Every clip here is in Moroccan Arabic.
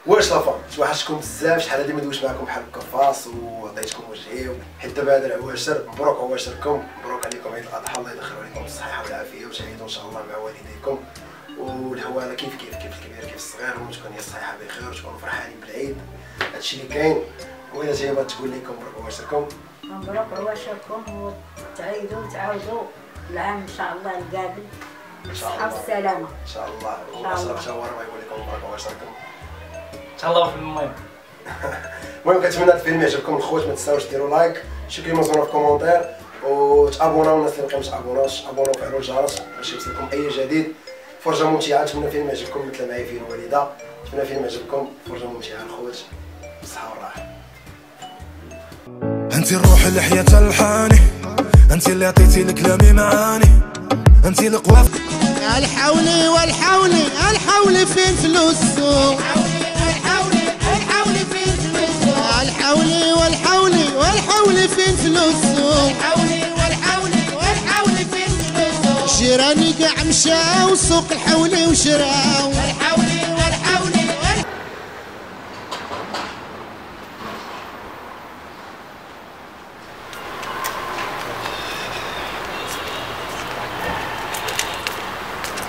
واش la famille توحشتكم بزاف، شحال هادي ما دويتش معكم بحال هكا face وعطيتكم وجهي، حيت دابا هذا العواشر مبروك عواشركم، مبروك عليكم عيد الاضحى، الله يدخل عليكم بالصحة والعافية وتعيدوا ان شاء الله مع والديكم والهواله كيف كيف كيف الكبير كيف الصغير، المهم تكون هي الصحيحة بخير وتكونوا فرحانين بالعيد. هادشي اللي كاين. وإلا جاية بغات تقول لكم مبروك عواشركم. مبروك عواشركم وتعيدوا وتعاودوا العام ان شاء الله القابل بالصحة والسلامة ان شاء الله. واشرف شاور يقول لكم مبروك عواشركم. تهلاو في المهم. المهم كنتمنى هذا الفيلم يعجبكم الخوت، ما تنساوش ديروا like، شي كلمة زوينة في commentaire، وتابوناو الناس اللي باقي ما تابوناوش، ابوناو وفعلوا الجرس باش يوصلكم اي جديد. فرجه ممتعة، نتمنى فيلم يعجبكم مثل معايا فيه الوالدة، نتمنى فيلم يعجبكم. فرجه ممتعة الخوت، بالصحة والراحة. انت الروح اللي حياة الحاني، انت اللي عطيتي لكلامي معاني، انت القوة. الحولي والحولي الحولي فين فلوسو، الحولي الحولي فين فلوسو، الحولي والحولي والحولي فين فلوسو، الحولي والحولي والحولي فين فلوسو، جيراني كاع مشاو سوق الحولي وشراو، الحولي والحولي.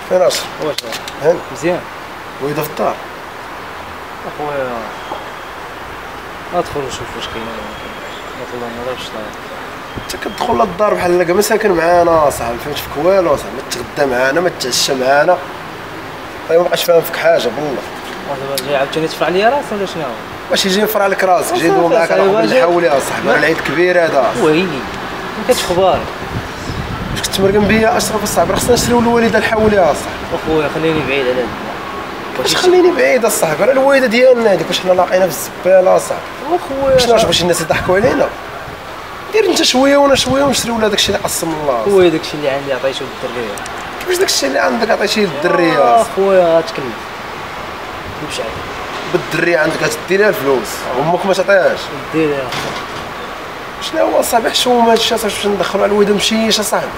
فين اشرف؟ واش هاني مزيان؟ ويدا في الدار اخويا، ندخل نشوف واش كاين ولا ما كاينش. نطلع ما ضربش. انت كتدخل للدار بحال هكا ما ساكن معانا صاحبي، ما فهمتش فيك والو صاحبي، ما تغدى معانا ما تتعشى معانا، طيب ما بقاش فاهم فيك حاجة بالله. دابا جاي عاوتاني تفرع ليا راسي ولا شنو؟ واش يجي يفرع لك راسك؟ جاي يدوي معاك على قبل الحولي اصاحبي، راه العيد كبير هذا. ويلي ما كانتش خباري. واش كتمرقم بيا اشرف الصاحبي؟ راه خصنا نشريو الوالدة الحولي اصاحبي. اخويا خليني بعيد على هاد. واش خليني بعيد اصاحبي؟ راه الوالدة ديالنا هذيك، واش حنا لاقينا في الزبالة اصاحبي؟ اخويا شنو باش الناس يضحكوا علينا؟ دير انت شوية وانا شوية ونشريو لها داكشي اللي قسم الله. خويا داكشي اللي عندي عطيته للدريه. كيفاش داكشي اللي عندك عطيتيه للدريه؟ اخويا تكلف كلبش عليك بالدريه، عندك غتدي لها الفلوس وامك ما تعطيهاش. دير لها اخويا. شنو هو صاحبي حشومه هادشي اصاحبي، باش ندخلو على الوالدة مشيش اصاحبي.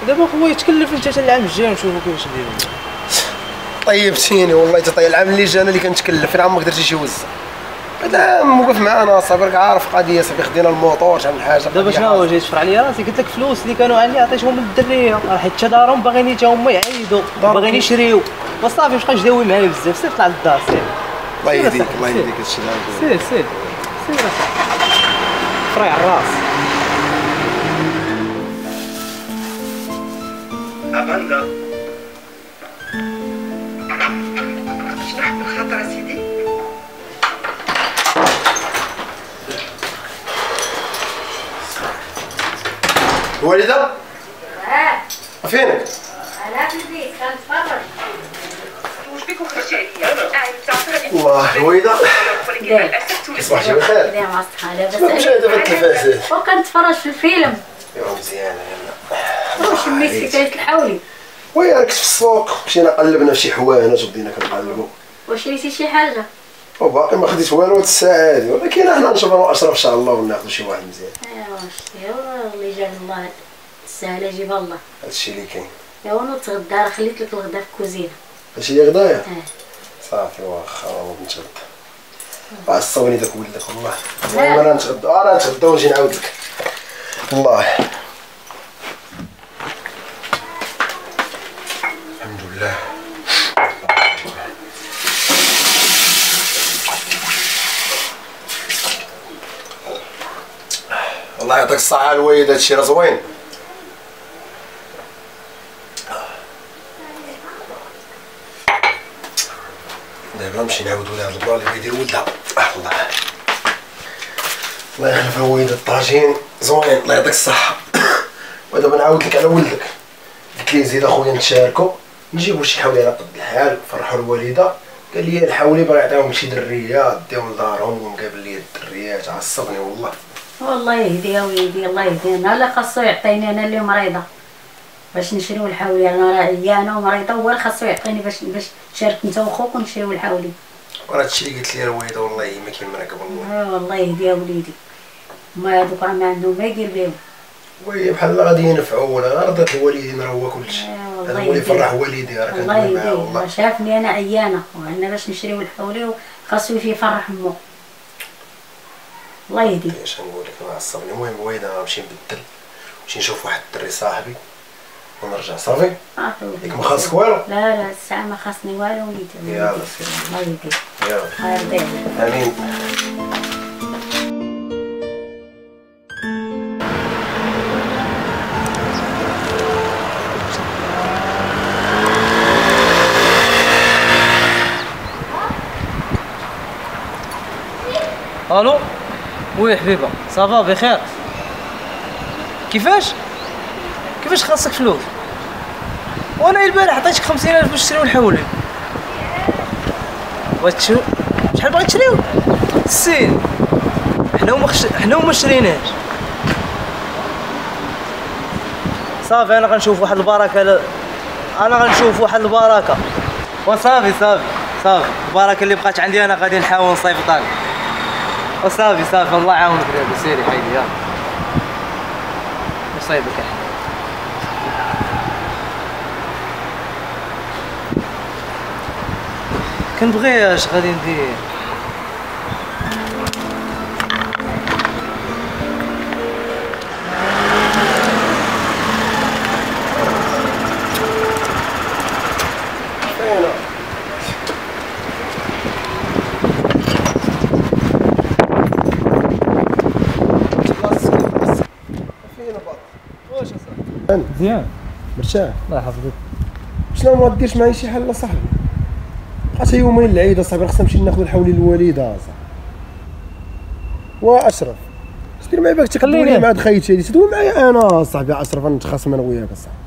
دابا خويا تكلف انت حتى العام الجاي ونشوفو كيفاش نديرو. طيبتيني والله تطيب. العام اللي جا انا اللي كنتكلف، فين عمرك درتي شي وزه؟ هذا العام وقف معانا صاحبي، راك عارف قضية صاحبي، خدينا الموطور شحال من حاجة. دابا شنو هو جاي تفرع عليا راسي؟ قلت لك فلوس اللي كانوا عندي عطيتهم للدريه، راه حيت دارهم باغيين حتى هما يعيدوا، باغيين يشريو، وصافي ما بقاش داوي معايا بزاف. سير طلع للدار سير. الله يهديك الله يهديك هادشي اللي سير سير سير اصاحبي، فريع الراس. أبندا شرح بالخاطر سيدي. الوالدة؟ فينك؟ أنا في البيت كنتفرج. واش بك وخرجتي عليا؟ الله الوالدة صباحتي بخير. لا مع الصحة لاباس عليك. مشاهدة في التلفاز وكنتفرج في الفيلم. ايوا مزيانة يلا. واش شميت حكاية الحولي؟ oui راه كنت في السوق، مشينا قلبنا في شي حوانات وبدينا كنقلبو. واش شريتي شي حاجة؟ وباقي ما خديت والو هاد الساعة هادي، ولكن حنا نشوف انا واشرف ان شاء الله وناخذ شي واحد مزيان. ايوا شتي الله يجعل الله السهلة جيبها الله. هادشي اللي كاين. ايوا نوض تغدى، راه خليت لك الغدا في الكوزينة. هادشي اللي غدايا؟ صافي واخا نوض نتغدى. عصبني داك ولدك والله. المهم انا نتغدى، انا نتغدى ونجي نعاود لك. الله الحمد لله. الله يعطيك الصحة الوالد، هادشي راه زوين. دابا نمشي نعاودو لهاد ال plan اللي بيدير ولدها. الله الله يخلف الوالد، الطاجين زوين الله يعطيك الصحة. ودابا نعاود لك على ولدك، قلت ليه زيد اخويا نتشاركو نجيبو شي حولي على قد الحال نفرحو الوالدة. قال لي الحولي باغي يعطيهم شي دريه ديهم لدارهم ومقابل لي الدريات، عصبني والله. والله يهديها ويهدي الله يهدينا. لا خاصو يعطيني انا اللي مريضه باش نشريو الحولي، انا راه عيانه ومريضه، هو اللي خاصو يعطيني باش تشارك انت وخوك ونشريو الحولي. وراه هادشي اللي قلت لي الوالدة والله ما كاين مراكب والله. والله يهديها وليدي، هما هادوك راه ما عندهم ما يدير بهم. oui بحال غادي ينفعوا ولا غير رضات الوالدين راه هو كلشي. هذا هو اللي يفرح والدي، راه كندوي معاه والله. شافني انا عيانه وعندنا باش نشريو الحولي وخاصو يفرح امو. الله يهديك. اش نقول لك، انا عصبني. المهم الوالدة انا غنمشي نبدل، نمشي نشوف واحد الدري صاحبي ونرجع. صافي؟ ياك ما خاصك والو؟ لا لا الساعة ما خاصني والو وليدي. يلاه سير. الله يهديك. يلاه. الله يرضي عليك. امين. الو oui حبيبه، ça va بخير؟ كيفاش كيفاش خاصك فلوس؟ وانا البارح عطيتك 50000 باش تشريو الحولي. بغيت تشريو؟ شحال بغيت تشريو؟ السين حنا وما شريناش. صافي انا غنشوف واحد البركة، انا غنشوف واحد البركة وصافي. صافي صافي البركة اللي بقات عندي انا غادي نحاول نصيفطها لك. وصافي صافي الله يعاونك دابا. سيري حيدي يلاه نصيبك احنا. كنبغي اش غادي ندير؟ مزيان مرتاح؟ الله يحفظك. شنو ما ديرش معايا شي حل اصاحبي؟ بقات يومين العيد اصاحبي، خصنا نمشي ناخذ الحولي للوالده اصاحبي. واشرف اش دير معايا باك تخليني مع هاد خيتي هادي تدوي معايا انا اصاحبي؟ اشرف نتخاصم انا وياك اصاحبي.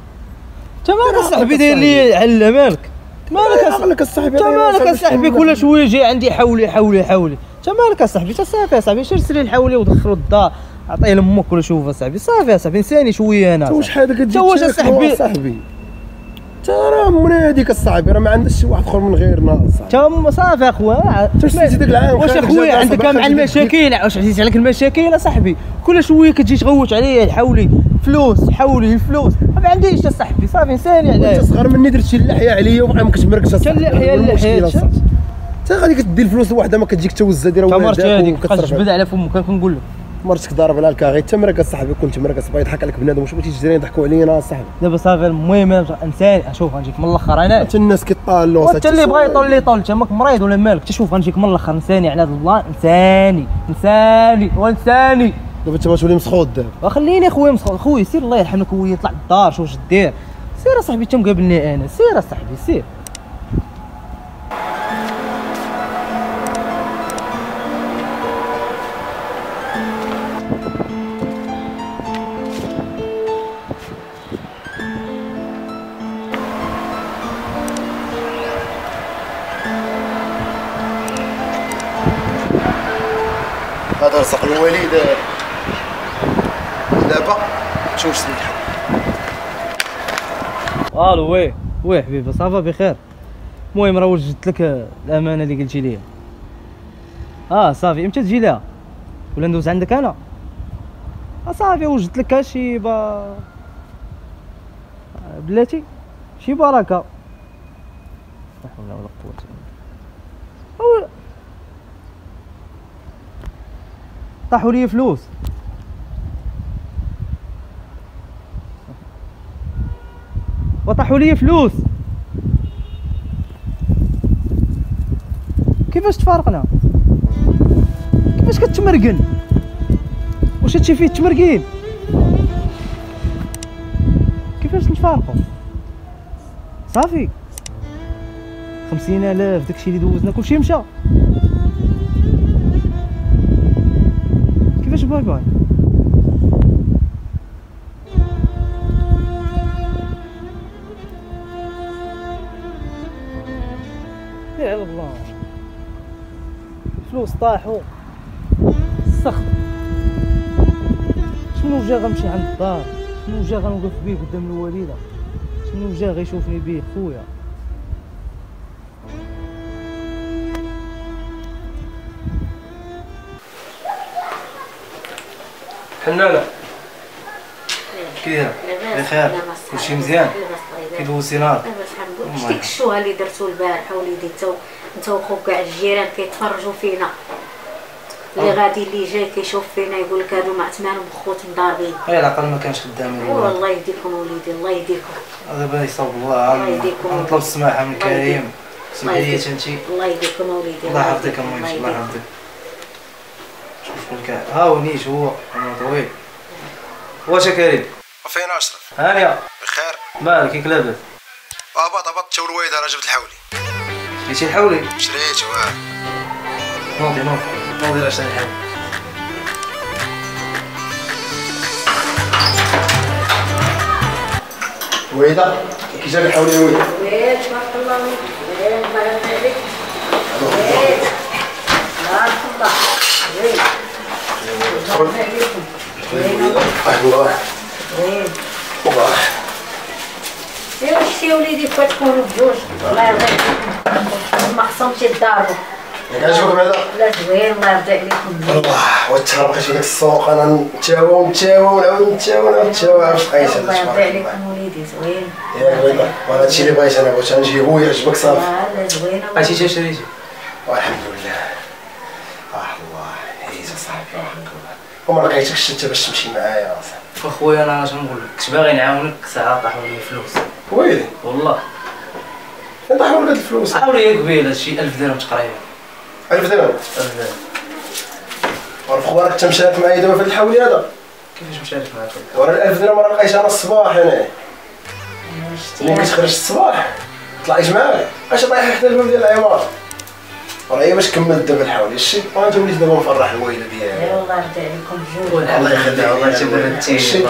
انت مالك اصاحبي داير لي على مالك؟ مالك اصاحبي؟ انت مالك اصاحبي كل شوية جاي عندي حولي حولي حولي. انت مالك اصاحبي؟ انت صافي اصاحبي، شري الحولي ودخلو الدار، عطية لامك ولا شوف اصاحبي. صافي اصاحبي نساني شوية انا. واش حالك كتجي واش اصاحبي؟ اصاحبي انت راه من هذيك اصاحبي، راه ما عندش شي واحد اخر من غيرنا اصاحبي. تا صافي اخويا. انت ديك العام واش اخويا عندك مع المشاكل؟ واش عزيز عليك المشاكل اصاحبي؟ كل شوية كتجي تغوت عليا حولي فلوس حولي الفلوس، ما عنديش اصاحبي. صافي نساني عليا. انت صغر مني درت شي اللحية عليا وبقى ما كتمركش اصاحبي. اللحية اللحية انت غادي كتدي الفلوس لوحده ما كتجيك توزه ديرها ولادك وكتصرف. تجبد على فمك كنقول لك مرتك ضارب على الكاغي تمرك اصاحبي. كنت مرك اصاحبي يضحك عليك بنادم. واش بغيتي الجيران يضحكوا علينا اصاحبي؟ دابا صافي المهم انسان. شوف غنجيك من الاخر انا. حتى الناس كيطالوا حتى اللي بغى يطول اللي يطول. انت ماك مريض ولا مالك؟ شوف غنجيك من الاخر انساني على هذا الله. انساني انساني وانساني. دابا انت تولي مسخوط دابا. وخليني اخويا مسخوط. خويا سير الله يرحمك خويا، طلع للدار شوف واش دير. سير اصاحبي انت مقابلني انا. سير اصاحبي سير. هذا رزق الوالدة. دابا شوف شنو الحل. الو oui oui حبيبه، ça va بخير؟ المهم راه وجدت لك الامانة اللي قلتي لي. صافي امتى تجي لها ولا ندوز عندك انا؟ صافي وجدت لك شي بلاتي شي بركة. لا حول ولا قوة الا بالله. طاحوا لي فلوس. وطاحوا لي فلوس. كيفاش تفارقنا؟ كيفاش كتمرقن؟ واش هادشي فيه التمرقين؟ كيفاش نتفارقوا؟ صافي 50000 داكشي اللي دوزنا كلشي مشى. كيفاش bye bye؟ سير على الله. فلوس طاحوا السخط. شنو جا غنمشي عند الدار؟ شنو جا غنوقف بيه قدام الوالدة؟ شنو جا غيشوفني بيه خويا؟ حنانه كي دايرة؟ بخير كلشي مزيان؟ كي دوزتي نهار؟ لاباس الحمد لله. شتي الشوهه اللي درتو البارح وليدي، انت وخوك كاع الجيران كيتفرجوا فينا، اللي غادي اللي جاي كيشوف فينا يقول لك هادو مع عثمان وخوت مضاربين. غير العقل ما كانش خدام. والله يهديكم وليدي، الله يهديكم. دابا يصاوب الله، نطلب السماحة من كريم. سمحي لي انت. الله يهديكم وليدي. الله يحفظك امي، الله يحفظك. شوف شكون ها هو نيت، هو انا طويل. واش كريم؟ فين اشرف؟ هانيه بخير. مالك كيك لاباس؟ هبط هبط تا الوالد راه جبت الحولي. شريتي الحولي؟ شريته اه. نوضي نوضي نوضي راه شري الحولي. ويدا كي جا الحولي ويدا؟ ويل تبارك الله ويل، الله يرضي عليك. ويل تبارك الله ويل، الله يرضي عليكم. الله ويل الله. ايوا شتي وليدي بغا تكونوا بجوج، الله يرضي عليكم، ما خصهمش يتضاربوا. ياك عجبك بعدا؟ لا زوين، الله يرضي عليكم. الله والتهرب بقيت في داك السوق انا نتاوى ونتاوى ونعاود نتاوى ونعاود نتاوى، عرفت لقيت هذا. الله يرضي عليكم وليدي زوين. ياك بيضا، وانا هادشي اللي بغيت انا، بغيت نجيبو يعجبك صافي. لا زوينة. عرفتي حتى شريتي؟ والحمد لله. الله عييت اصاحبي وحق الله، وما لقيتكش انت باش تمشي معايا اصاحبي. اخويا انا اش نقول لك، كنت باغي نعاونك ساعة طاحوا لي فلوس. ويلي والله فين طاحوا لك هاد الفلوس؟ طاحوا لي قبيلة شي 1000 درهم تقريبا. 1000 درهم؟ 1000 درهم. وعرف خوارك انت مشارك معايا دابا في هاد الحولي هذا؟ كيفاش مشارك معاك؟ ورا 1000 درهم راه لقيتها انا الصباح انا. ملي كنت خرجت الصباح طلعت معاك، اش طايح حدا الباب ديال العمارة. راه هي باش كملت دابا الحولي شتي، وانت وليت دابا مفرح الوالدة ديالي. الله يرضي عليكم بجوج. الله يخليك والله تبردتي.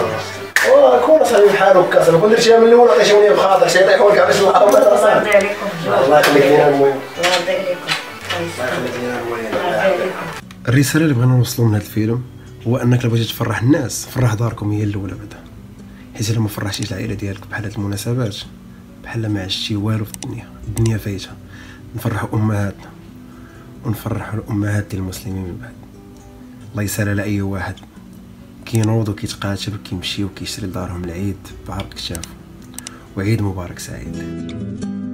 واه كون اصاحبي بحال هكا صاحبي، كون درتيها من الاول عطيتيهم لي بخاطر، شي يطيحوا لك علاش الله يرضي عليكم بجوج. الله يخليك لينا المهم. الله يرضي عليكم. الله يخليك لينا الوالدة. الرسالة اللي بغينا نوصلوا من هذا الفيلم هو انك الا بغيتي تفرح الناس فرح داركم هي الاولى بعدا، حيت الا ما فرحتيش العائلة ديالك بحال هاد المناسبات بحال ما عشتي والو في الدنيا، الدنيا فايته. نفرحوا امهاتنا ونفرحوا الامهات ديال المسلمين من بعد. الله يسهل على اي واحد كينوض وكيتقاتل وكيمشي وكيشري لدارهم العيد بعرق كتافو. وعيد مبارك سعيد.